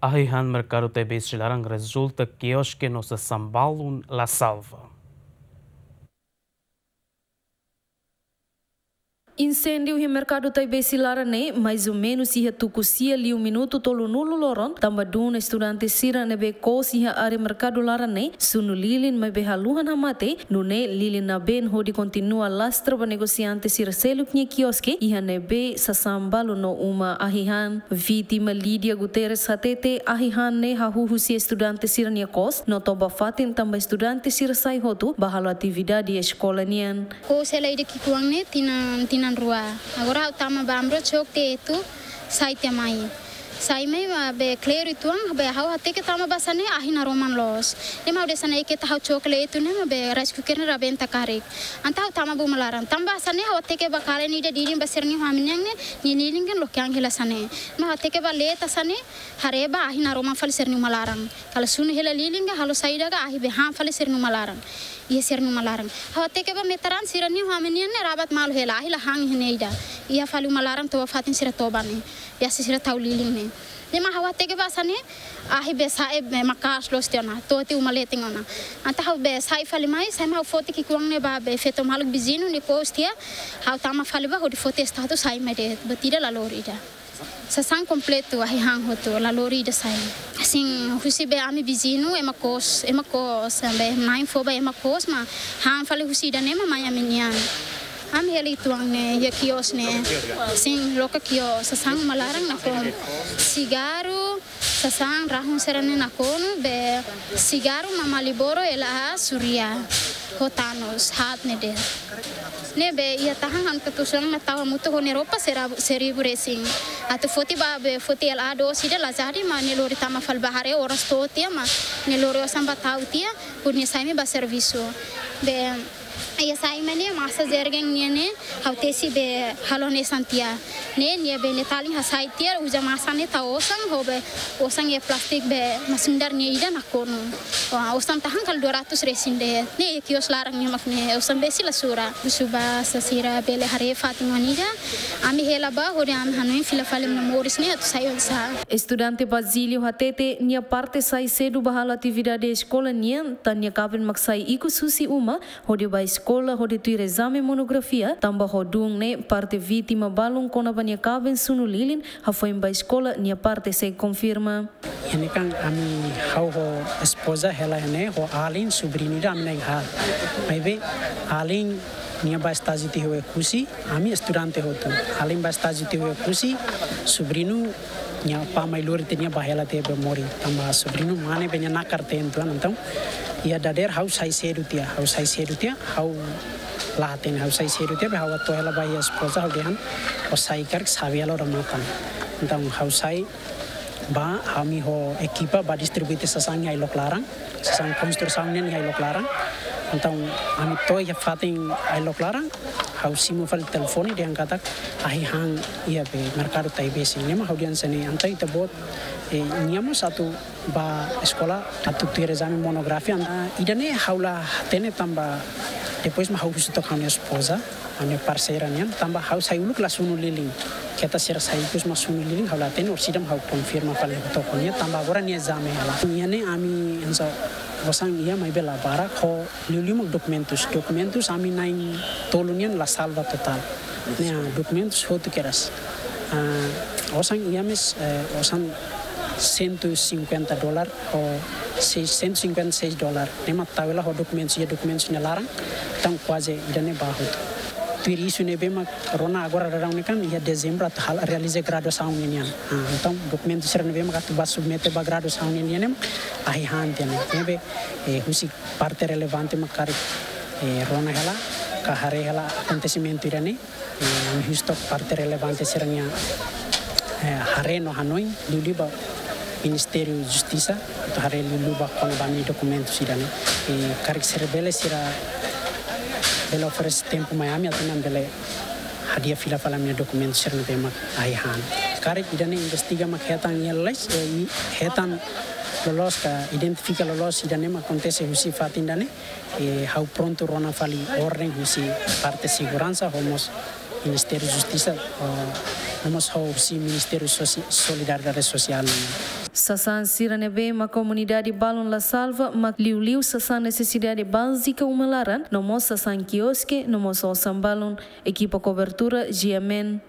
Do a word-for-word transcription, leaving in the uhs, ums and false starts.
Ahi-han Merkadu Taibesi laran rezulta kioske no sasán balun la salva. Insêndiu iha Merkadu Taibesi laran ne'e, mais ou menus iha tuku sia liu minutu tolunulu loron, tanba dún estudante sira ne'ebé kous iha área merkadu laran ne'e, sunu lilin maibé haluhan hamate, nune'e lilin nabeen hodi kontinua lastra ba negosiante sira seluk nia kioske, iha ne'ebé sasán balun no uma ahi-han. Vítima Lídia Guterres hatete ahi-han ne'e hahú husi estudante sira nia kous, no toba fatin tanba estudante sira sai hotu ba halo atividade eskola nian. Kous hela ida ki'ikoan ne'e tinan, tinan rua. Agora ha'u tama ba Ambro, choke tiha etu, sai tiha mai. Sai mai maibé kleru uitoan, be ha'u hateke tama ba hanesan ne'e ahi naroman loos. Ne'e mak hanesan ne'e keta ha'u choke etu ne'e maibé rice cooker ne'e rabenta karik. Entaun ha'u tama ba uma laran. Tama ba hanesan ne'e ha'u hateke ba kalen ida didin ba sira-nia ha'u-nia ami-nian ne'e, nia lilin kan loke an hela hanesan ne'e. Mak ha'u hateke ba leten hanesan ne'e, haree ba ahi naroman fali sira-nia uma laran. Kala sunu hela lilin ka halo saida ka ahi be han fali sira-nia uma laran. Iha sira-nia uma laran. Ha'u hateke ba metan sira-nia ha'u-nia ami-nian ne'e rabat malu hela, ahi la han iha ne'e ida. Iha fali uma laran toba fatin sira toba ne'e. Biasa sira tau lilin ne'e. Ne'e mak ha'u hateke ba hanesan ne'e, ahi be sa'e be maka'as loos tiha ona, to'o tiha uma leten ona. Entaun ha'u be sai fali mai, sai mai ha'u foti ki'ikoan ne'e ba be feto maluk viziñu ne'e kous tiha, ha'u tama fali ba hodi foti status sai mai de'it, buat ida la lori ida. Sasán kompletu ahi-han hotu, la lori ida sai. Sin, husi be ami viziñu, ema kous, ema kous, be na'in fó ba ema kous, mak han fali husi ida-ne'e mak mai ami-nian. Ami hela uitoan ne'e, iha kios ne'e. Sin, loke kios, sasán uma laran nakonu. Sigarru, sasán, rahun sira-ne'e nakonu, be sigarru mak Marlboro, L A, Surya, ho Thanos, haat ne'e de'it. Ne'ebé iha tahan ha'u-nia katuas-oan ne'e tau hamutuk ho nia roupa sera-, seribu resin. Atu foti ba be foti L A doos ida la jadi mak nia lori tama fali ba haree oras to'o tiha mak nia lori osan ba tau tiha, hodi nia sai mai ba servisu. Be iha sai mai ne'e masa jergen nian ne'e ha'u tesi be halo hanesan tiha. Ne'e nia be nia talin hasai tiha uza masa ne'e tau osan ho be osan iha plástiku be masin dar nia ida nakonu. Wah, osan tahan kala dua ratus resin de'it. Ne'e kios laran ne'e mak ne'e osan besik la sura. Husu ba sasira bele haree fatin ida. Ami hela ba hodi ami hanoin fila fali ami-nia moris ne'e atu sai oinsá. Estudante Basílio hatete nia parte sai sedu ba halo atividade eskola nian, tan nia kaben mak sai ikus husi uma, hodi ba eskola hodi tuir ezame monografia, tanba ho dún ne'e parte vítima balun kona-ba nia kaben sunu lilin, hafoin ba eskola nia parte sei konfirma. Iha ne'e kan ami ha'u ho espoza hela iha ne'e ho alin sobriñu ida ami na'in haat. Maibé alin nia ba estájiu tiha Oekusi, ami estudante hotu. Alin ba estájiu tiha Oekusi, sobriñu nia apá mai lori tiha nia ba hela tiha be morin. Tanba sobriñu mane be nia nakar tentu an, entaun iha dadeer ha'u sai sedu tiha, ha'u sai sedu tiha, ha'u la hatene ha'u sai sedu tiha, be ha'u atu hela ba iha espoza ha'u dehan, ó sai karik xave hela ó-nia matan. Entaun ha'u sai ba, ami ho ekipa ba distribui tiha sasán iha ailok laran, sasán konstrusaun nian iha ailok laran. Entaun ami to'o iha fatin ailok laran, ha'u simu fali telefone dehan katak ahi-han iha be Merkadu Taibesi. Ne'e mak ha'u dehan hanesan ne'e, entaun ita-boot, eh, nia mós atu ba eskola atu tuir ezame monografia. Ah, ida-ne'e ha'u la hatene tanba depois mak ha'u husu took ha'u-nia espoza, ha'u-nia parseira nian, tanba ha'u sai uluk la sunu lilin. Keta sira sai ikus mak sunu lilin, ha'u la hatene, orsida mak ha'u konfirma fali took ho nia, tanba agora nia ezame hela. Iha ne'e ami hanesan osan iha maibé la barak, ho liuliu mak dokumentus. Dokumentus ami na'in-tolu nian la salva totál. Ne'e, ah, dokumentus hotu kedas. Ah, osan iha mós, eh, osan cento e cinquenta dólar, ho seis, cento e cinquenta e seis dólar. Ne'e mak tau hela ho dokumentus, iha dokumentus nia laran, entaun kuaze ida-ne'e ba hotu. Tuir isu ne'ebé mak rona agora daudaun ne'e kan, iha dezembru atu hal-, realiza graduasaun ninian. Ah, entaun dokumentu sira ne'ebé mak atu ba submete ba graduasaun ninian ne'e mak ahi-han tiha ne'e. Ne'ebé, eh, husi parte relevante mak karik, eh, rona hela, ka haree hela akontesimentu ida-ne'e. Eh, ami husu took parte relevante sira-nia, eh, haree no hanoin, liuliu ba Ministériu Justisa, atu haree liuliu ba kona-ba ami-nia dokumentu sira-ne'e. Eh, karik sira bele, sira bele oferese tempu mai ami, atu ami bele hadi'a fila fali ami-nia dokumentu sira ne'ebé mak ahi-han. Karik ida-ne'e investiga mak hetan iha lalais, eh, i-, hetan loloos ka identifika loloos ida-ne'e mak akontese husi fatin ida-ne'e, eh, ha'u prontu rona fali orden husi parte seguransa, ho mós Ministériu Justisa, eh, ho mós husi Ministériu Sosi-, Solidariedade Sosiál. Sasán sira ne'ebé mak komunidade balun la salva mak liuliu sasán nesesidade bázika uma laran, no mós sasán kioske, no mós osan balun. Ekipa kobertura GMN